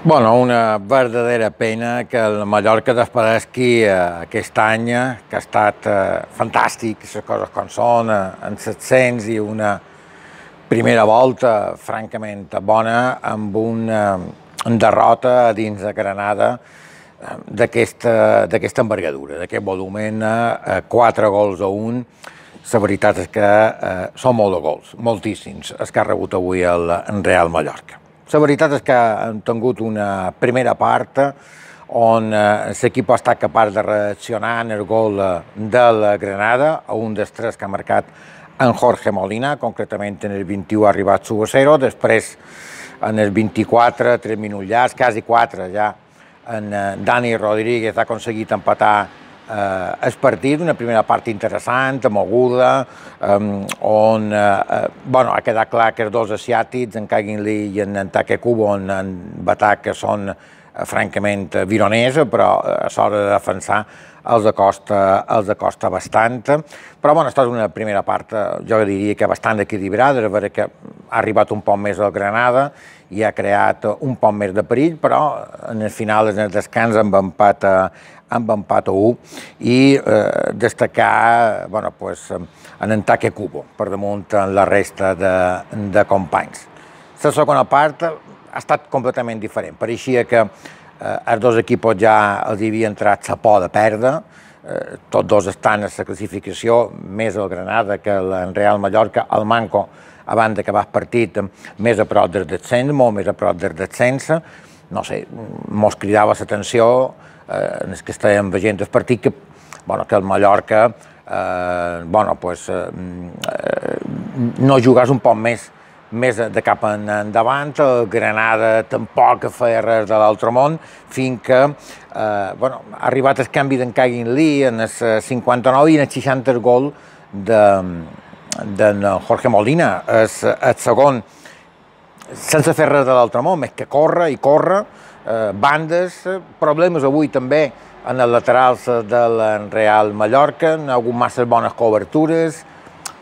Bueno, una verdadera pena que el Mallorca desapareixi aquest any, que ha estat fantàstic, les coses com són, en 700 i una primera volta francament bona, amb una derrota dins de Granada d'aquesta envergadura, d'aquest volumen, 4 gols a 1. La veritat és que són molt de gols, moltíssims, els que ha rebut avui el Real Mallorca. La veritat és que hem tingut una primera part on l'equip ha estat capaç de reaccionar en el gol del Granada, a un dels 3 que ha marcat en Jorge Molina, concretament en el 21 ha arribat 1-0, després en el 24, 3 minuts llargs, quasi 4 ja, en Dani Rodríguez ha aconseguit empatar el partit, una primera part interessant, moguda, on ha quedat clar que els dos asiàtics, en Kangin Lee i en Take Kubo, en batalla que són francament vironers, però a l'hora de defensar els acosta bastant. Però ha estat una primera part, jo diria que bastant equilibrada, és veritat que ha arribat un poc més al Granada i ha creat un poc més de perill, però en el final, en el descans, amb empat a 1 i destacar en Take Kubo per damunt la resta de companys. La segona part ha estat completament diferent. Pareixia que els dos equips ja els havia entrat la por de perdre, tots dos estan a la classificació, més el Granada que el Real Mallorca, el Manco, abans d'acabar el partit, més a prop del descens, molt més a prop del descens. No sé, mos cridava l'atenció en els que estàvem veient el partit que el Mallorca no jugàs un poc més de cap endavant, el Granada tampoc feia res de l'altre món, fins que ha arribat el canvi d'en Kangin Lee en el 59 i en el 60 el gol d'en Jorge Molina, el segon, sense fer res de l'altre món, més que córrer i córrer, bandes, problemes avui també en els laterals del Real Mallorca, han hagut massa bones cobertures,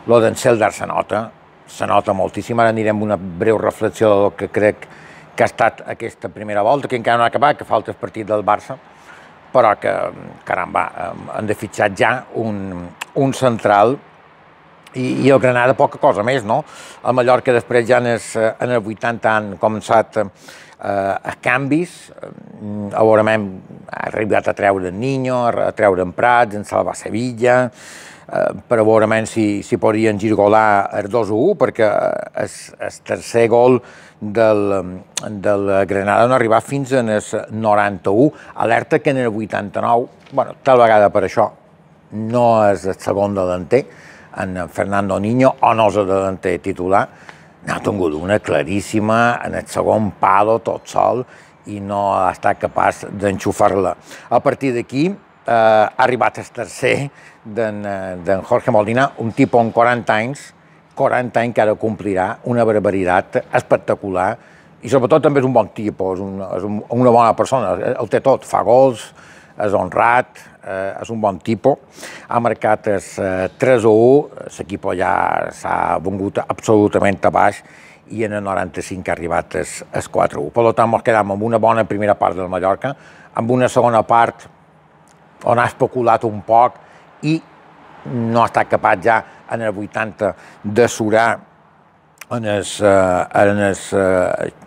el d'en Seldar se nota moltíssim. Ara anirem a una breu reflexió del que crec que ha estat aquesta primera volta, que encara no ha acabat, que falta el partit del Barça, però que, caramba, han de fitxar ja un central i el Granada poca cosa més, no? El Mallorca després ja en els 80 han començat a canvis, ha arribat a treure en Niño, a treure en Prats, en Salva Sevilla, per a veure si podrien girgolar el 2-1, perquè el tercer gol del Granada no ha arribat fins en el 91. Alerta que en el 89, tal vegada per això, no és el segon delanter, en Fernando Niño, o no és el delanter titular, n'ha tingut una claríssima en el segon palo tot sol i no ha estat capaç d'enxufar-la. A partir d'aquí ha arribat el tercer d'en Jorge Molina, un tipus amb 40 anys que ara complirà una barbaritat espectacular i sobretot també és un bon tipus, és una bona persona, el té tot, fa gols, és honrat, és un bon tipus, ha marcat el 3-1, l'equip ja s'ha vengut absolutament a baix i en el 95 ha arribat el 4-1. Per tant, ens quedem amb una bona primera part del Mallorca, amb una segona part on ha especulat un poc i no ha estat capaç ja en el 80 de surar,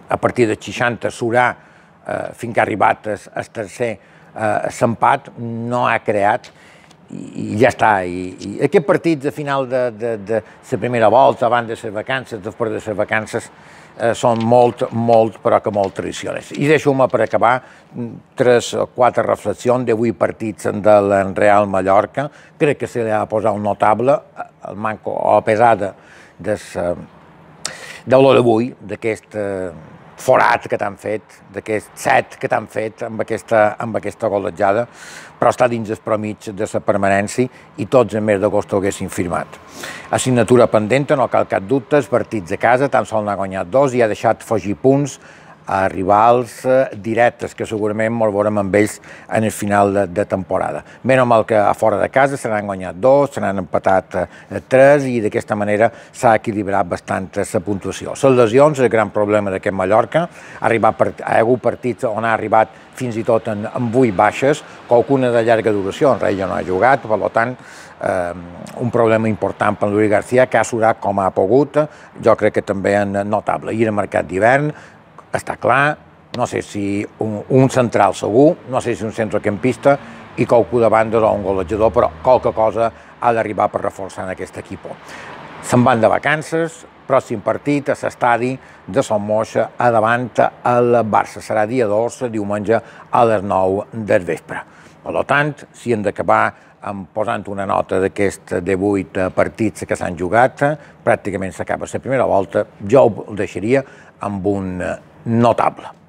a partir del 60 surar fins que ha arribat el tercer l'empat, no ha creat i ja està. I aquest partit de final de la primera volta, abans de les vacances, després de les vacances, són molt, però que molt tradicionals. I deixo-me per acabar 3 o 4 reflexions de 8 partits del Real Mallorca. Crec que se li ha de posar un notable, el Manco, a pesar de l'hora d'avui, d'aquest forat que t'han fet, d'aquest set que t'han fet amb aquesta golejada, però està dins el promig de la permanència i tots en mes d'agost ho haguessin firmat. Assignatura pendent, no cal cap dubte, els partits a casa, tan sols n'ha guanyat 2 i ha deixat fugir punts a rivals directes, que segurament ens veurem amb ells en el final de temporada. Menys mal que a fora de casa se n'han guanyat 2, se n'han empatat 3 i d'aquesta manera s'ha equilibrat bastant la puntuació. Les lesions, el gran problema d'aquest Mallorca, ha hagut partits on ha arribat fins i tot en 8 baixes, qualcuna de llarga duració, en Reia no ha jugat, per tant, un problema important per Lluís García, que ha surat com ha pogut, jo crec que també és notable. I el mercat d'hivern, està clar, no sé si un central segur, no sé si un centrocampista i qualcú de bandes o un golejador, però qualque cosa ha d'arribar per reforçar en aquest equip. Se'n van de vacances, pròxim partit a l'estadi de Son Moix davant el Barça. Serà dia 2, diumenge a les 9 del vespre. Per tant, si hem d'acabar posant una nota d'aquests 18 partits que s'han jugat, pràcticament s'acaba la primera volta, jo ho deixaria amb un notable.